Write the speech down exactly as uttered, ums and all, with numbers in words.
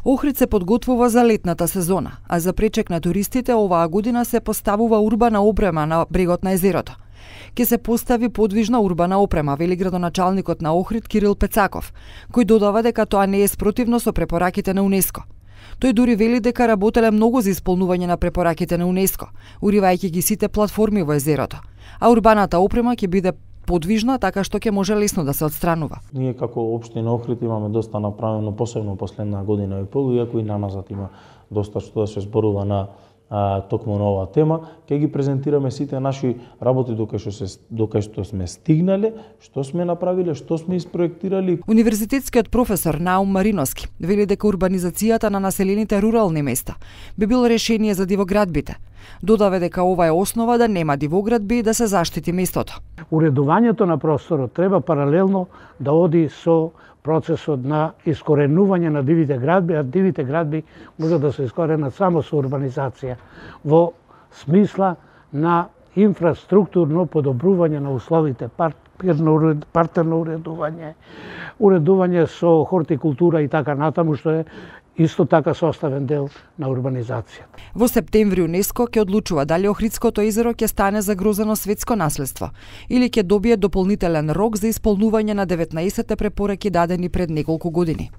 Охрид се подготвува за летната сезона, а за пречек на туристите оваа година се поставува урбана опрема на брегот на езерото. Ке се постави подвижна урбана опрема, вели градоначалникот на Охрид Кирил Пецаков, кој додава дека тоа не е спротивно со препораките на УНЕСКО. Тој дури вели дека работеле многу за исполнување на препораките на УНЕСКО, уривајќи ги сите платформи во езерото, а урбаната опрема ќе биде подвижна, така што ќе може лесно да се отстранува. Ние како општина Охрид имаме доста направено, посебно последна година и пол, иако и наназад има доста што да се зборува на а, токму на оваа тема, ќе ги презентираме сите наши работи докај што се докај што сме стигнале, што сме направиле, што сме испроектирали. Универзитетскиот професор Наум Мариновски вели дека урбанизацијата на населените рурални места би било решение за дивоградбите. Додава дека ова е основа да нема дивоградби и да се заштити местото. Уредувањето на просторот треба паралелно да оди со процесот на искоренување на дивите градби, а дивите градби може да се искоренат само со урбанизација во смисла на инфраструктурно подобрување на условите, партерно уредување, уредување со хортикултура и така натаму, што е исто така составен дел на урбанизацијата. Во септември УНЕСКО ќе одлучува дали Охридското езеро ќе стане загрозено светско наследство или ќе добие дополнителен рок за исполнување на деветнаесетте препораки дадени пред неколку години.